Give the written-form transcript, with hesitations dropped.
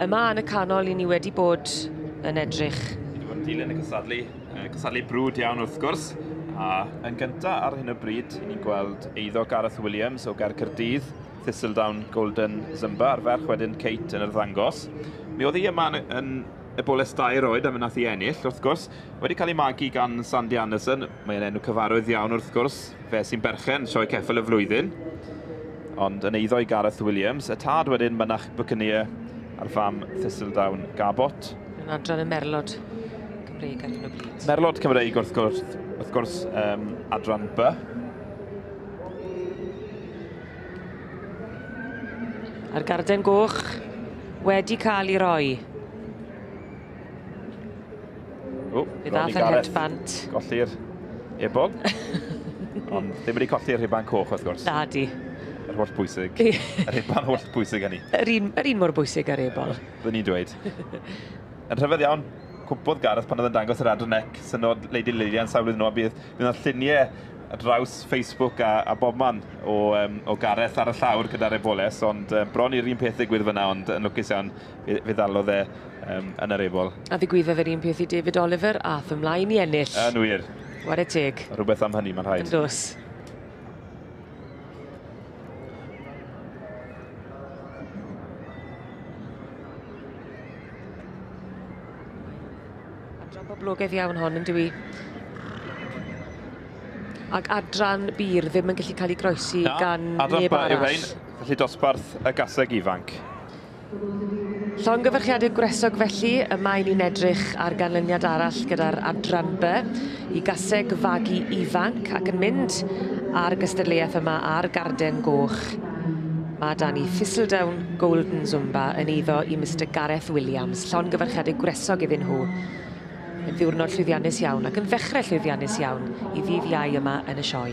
Yma yn y canol i ni wedi bod yn edrych. Ni wedi bod yn dilyn y cystadlu, cystadlu brwd iawn wrth gwrs. A yn gyntaf ar hyn o bryd, i ni'n gweld eiddo Gareth Williams o Gaerdydd, Thistledown Golden Zumba, a'r ferch wedyn Kate yn yr ddangos. Mi oedd hi yma yn eboles 2 oed a mi nath hi ennill, wrth gwrs. Wedi cael ei magu gan Sandy Anderson, mae'n enw cyfarwydd iawn wrth gwrs, fe sy'n berchen sioe ceffyl y flwyddyn. Ond yn eiddo i Gareth Williams, y tad wedyn Mynach Buccaneer a'r fam Thistledown Gabot. Yn adran y Merlod Cymreig ar hyn o bryd. Merlod Cymreig wrth gwrs, adran B. A'r garden goch wedi cael ei roi. O, fe ddath yr headband. Golli'r ebol. Ond ddim wedi colli'r rhuban coch wrth gwrs. Na di. Yr holl bwysig. Yr rhuban holl bwysig hynny. Yr un mor bwysig ar ebol. Byddwn ni'n dweud. Yn rhyfedd iawn, cwmpodd Gareth pan oedd yn dangos yr adran C, synod Lady Lillian sawl blwyddyn nôl, bydd yna lluniau ar draws Facebook a bobman o Gareth ar y llawr gyda'r eboles, ond bron i'r un peth ddigwydd fyna, ond yn lwcus iawn fe ddalodd e yn yr ebol. A ddigwyddodd yr un peth i David Oliver, ath ymlaen i ennill. Yn wir. Ware teg. Rhywbeth am hynny, mae'n rhaid. Yn dos. Adran boblogaidd iawn hon, yn dyw? Ac adran bir ddim yn gallu cael ei groesi gan neb arall. Felly dosbarth y gaseg ifanc. Llongyfarchiadau gwresog felly, y mae ni'n edrych ar ganlyniad arall gyda'r adran B i gaseg fagu ifanc ac yn mynd ar gystadleuaeth yma ar Garden Goch. Mae da ni Thistledown Golden Zumba yn eiddo i Mr Gareth Williams. Llongyfarchiadau gwresog iddyn nhw. Yn ddiwrnod llwyddiannus iawn ac yn ddechrau llwyddiannus iawn i ddydd Iau yma yn y sioe.